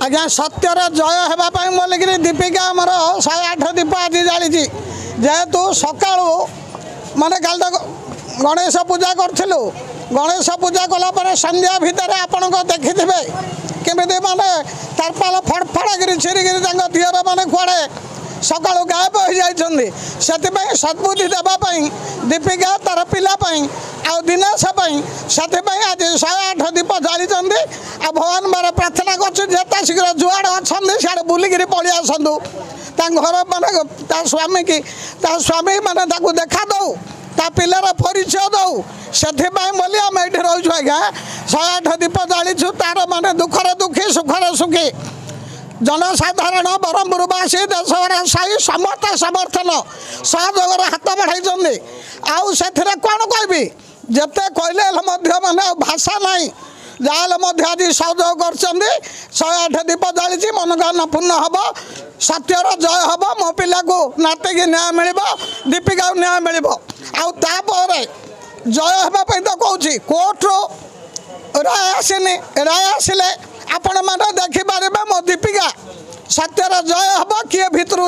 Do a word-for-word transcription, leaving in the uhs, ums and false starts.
ଆଜ୍ଞା, ସତ୍ୟର ଜୟ ହେବା ପାଇଁ ବୋଲିକିରି ଦୀପିକା ଆମର ଶହେ ଆଠ ଦୀପ ଆଜି ଜାଳିଛି। ଯେହେତୁ ସକାଳୁ ମାନେ କାଲି ତ ଗଣେଶ ପୂଜା କରିଥିଲୁ, ଗଣେଶ ପୂଜା କଲା ପରେ ସନ୍ଧ୍ୟା ଭିତରେ ଆପଣଙ୍କ ଦେଖିଥିବେ କେମିତି ମାନେ ତାରପାଲ ଫଡ଼ଫଡ଼ାକିରି ଛିରିକିରି ତାଙ୍କ ଦିଅର ମାନେ କୁଆଡ଼େ ସକାଳୁ ଗାୟବ ହୋଇଯାଇଛନ୍ତି। ସେଥିପାଇଁ ସଦ୍ବୁଦ୍ଧି ଦେବା ପାଇଁ ଦୀପିକା ତାର ପିଲା ପାଇଁ ଆଉ ଦିନେଶ ପାଇଁ, ସେଥିପାଇଁ ଆଜି ଶହେ ଆଠ ଦୀପ ଜାଳିଛନ୍ତି। ଆଉ ଭଗବାନ ବାର ପ୍ରାର୍ଥନା କରୁଛୁ, ଯେତେ ଶୀଘ୍ର ଯୁଆଡ଼େ ଅଛନ୍ତି ସିଆଡ଼େ ବୁଲିକିରି ପଳେଇ ଆସନ୍ତୁ ତାଙ୍କ ଘର, ମାନେ ତା ସ୍ୱାମୀକି, ତା ସ୍ୱାମୀ ମାନେ ତାକୁ ଦେଖା ଦଉ, ତା ପିଲାର ପରିଚୟ ଦଉ। ସେଥିପାଇଁ ବୋଲି ଆମେ ଏଇଠି ରହୁଛୁ ଆଜ୍ଞା, ଶହେ ଆଠ ଦୀପ ଜାଳିଛୁ। ତାର ମାନେ ଦୁଃଖରେ ଦୁଃଖୀ, ସୁଖରେ ସୁଖୀ ଜନସାଧାରଣ, ବ୍ରହ୍ମପୁରବାସୀ, ଦେଶର ସାହି ସମସ୍ତେ ସମର୍ଥନ ସହଯୋଗର ହାତ ବଢ଼ାଇଛନ୍ତି। ଆଉ ସେଥିରେ କ'ଣ କହିବି, ଯେତେ କହିଲେ ହେଲେ ମଧ୍ୟ ମାନେ ଆଉ ଭାଷା ନାହିଁ। ଯାହାହେଲେ ମଧ୍ୟ ଆଜି ସହଯୋଗ କରିଛନ୍ତି। ଶହେ ଆଠ ଦୀପ ଜାଳିଛି, ମନୋକାମନା ପୂର୍ଣ୍ଣ ହେବ, ସତ୍ୟର ଜୟ ହେବ, ମୋ ପିଲାକୁ ନାତିକି ନ୍ୟାୟ ମିଳିବ, ଦୀପିକାକୁ ନ୍ୟାୟ ମିଳିବ। ଆଉ ତାପରେ ଜୟ ହେବା ପାଇଁ ତ କହୁଛି, କୋର୍ଟରୁ ରାୟ ଆସିନି। ରାୟ ଆସିଲେ ଆପଣମାନେ ଦେଖିପାରିବେ ମୋ ଦୀପିକା ସତ୍ୟର ଜୟ ହେବ, କିଏ ଭିତରୁ